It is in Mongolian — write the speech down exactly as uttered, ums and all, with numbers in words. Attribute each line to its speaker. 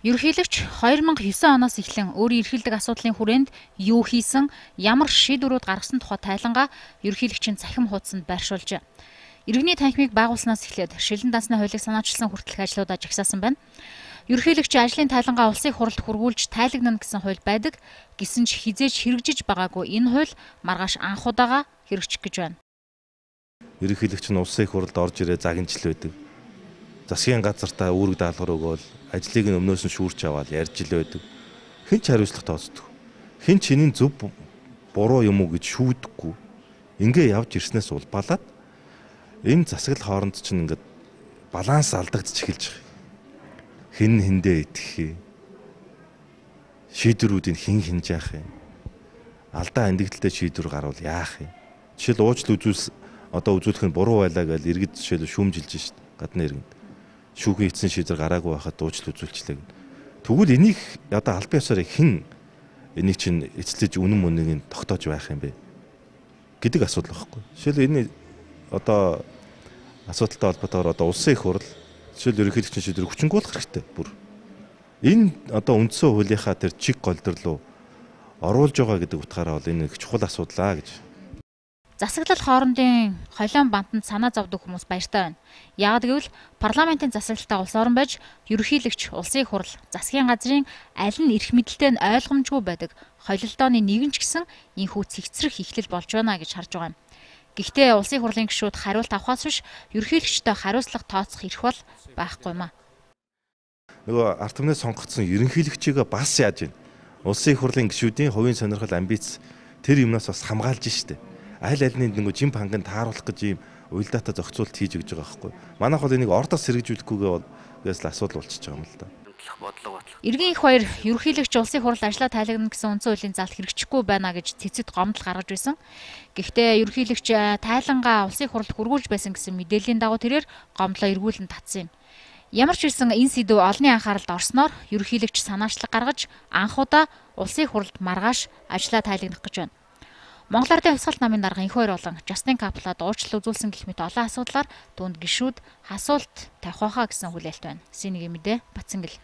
Speaker 1: Ерөнхийлөгч хоёр мянга девять оноос эхлэн өөрийн эрхэлдэг асуудлын хүрээнд юу хийсэн, ямар шийдвэрүүд гаргасан тухай тайлангаа ерөнхийлөгчийн цахим хуудсанд байршуулжээ. Иргэний танхимыг байгуулснаас эхлээд шилэн дансны хуулийг санаачилсан хүртэлх ажлуудаа жагсаасан байна. Ерөнхийлөгчийн ажлын тайлангаа улсын хурлд хүргүүлж тайлагнана гэсэн хууль байдаг. Гэсэн ч хизээж хэрэгжиж байгаагүй энэ хууль маргааш анх удаага хэрэгжих гэж байна.
Speaker 2: Ерөнхийлөгч нь улсын хурлд орж ирээ загинжил байдаг. Засгийн газартаа үүрэг даалгавар өгөөл ажлыг нь өмнөөс нь шүүрч аваад ярьж ил байдаг. Хэн ч хариуцлага тооцдог. Хэн ч энийн зөв буруу юм уу гэж шүүдэггүй. Ингээ явж ирснээс улбалаад энэ засаглал хооронд чинь ингээд баланс алдагдчих эхэлж байгаа. Хэн хэндээ итгэх юм. Шийдвэрүүдийг хэн хинж яах юм. Алдаа андигдaltaй шийдвэр гарвал яах юм. Жишээл уучлал үзүүлс одоо үзүүлэх нь буруу байлаа гэж иргэд жишээл шүүмжилж шít гадны иргэнд. Шүүхийн эцсийн шийдвэр гараагүй байхад уучлал үзүүлчлээ. Тэгвэл энийг одоо албан ёсоор хэн энийг чинь эцэлж үнэн мөнийг тогтоож байх юм бэ гэдэг асуудал байхгүй. Жишээл энэ одоо асуудалтай холбоотойгоор одоо улсын их хурл жишээл ерөнхийлөгчийн шийдвэрийг хүчингүүлэх хэрэгтэй бүр. Энэ одоо үндсэн хуулийнхаа тэр чиг голдор руу оруулж байгаа гэдэг утгаараа бол энэ их чухал асуудал гэж.
Speaker 1: Засаглал хоорондын холион бантанд санаа зовдөг хүмүүс баяртай байна. Яагад гэвэл парламентын засаглалтаа улс орон байж ерөнхийлөгч, улсын хурл, засгийн газрын аль нь эрх мэдэлтэй нь ойлгомжгүй байдаг холилдооны нэгэн ч гэсэн энэхүү цэгцрэх эхлэл болж байна гэж харж байгаа юм. Гэхдээ улсын хурлын гишүүд хариулт авахаас биш ерөнхийлөгчтэй хариуцлага тооцох эрх бол байхгүй юм аа.
Speaker 2: Нөгөө ард түмнээ сонгогдсон ерөнхийлөгчийгөө бас яаж байна? Улсын хурлын гишүүдийн хувийн сонирхол амбиц тэр юмнаас бас хамгаалж штэ. Аль альны нэг жим ханганд тааруулах гэж ийм уялдаатай зохицуулт хийж өгч байгаа байхгүй. Манайх бол энийг ордос сэргэжүүлэхгүйгээс л асуудал болчихж байгаа юм л да.
Speaker 1: Иргэн их баяр ерөнхийлөгч улсын хурл ажлаа тайлагна гэсэн үндсэн хуулийн заалт хэрэгжихгүй байна гэж цэцэд гомдол гаргаж байсан. Гэхдээ ерөнхийлөгч тайлангаа улсын хурлд хүргүүлж байсан гэсэн мэдээллийн дагуу тэрээр гомдлоо эргүүлэн татсан юм. Ямар ч хэлсэн энэ сэдв олонний анхааралд орсноор ерөнхийлөгч санаачлаг гаргаж анх удаа улсын хурлд маргааш ажлаа тайлагнах гэж байна. Монгол Ардын хувьсгалт намын дарга энх баяр болон Justin Kaplan уучлал үзүүлсэн гэх мэт олон асуудлаар түүнд гишүүд асуулт тавих байхаа гэсэн хүлээлт байна. Синегийн мэдээ Батцангэл.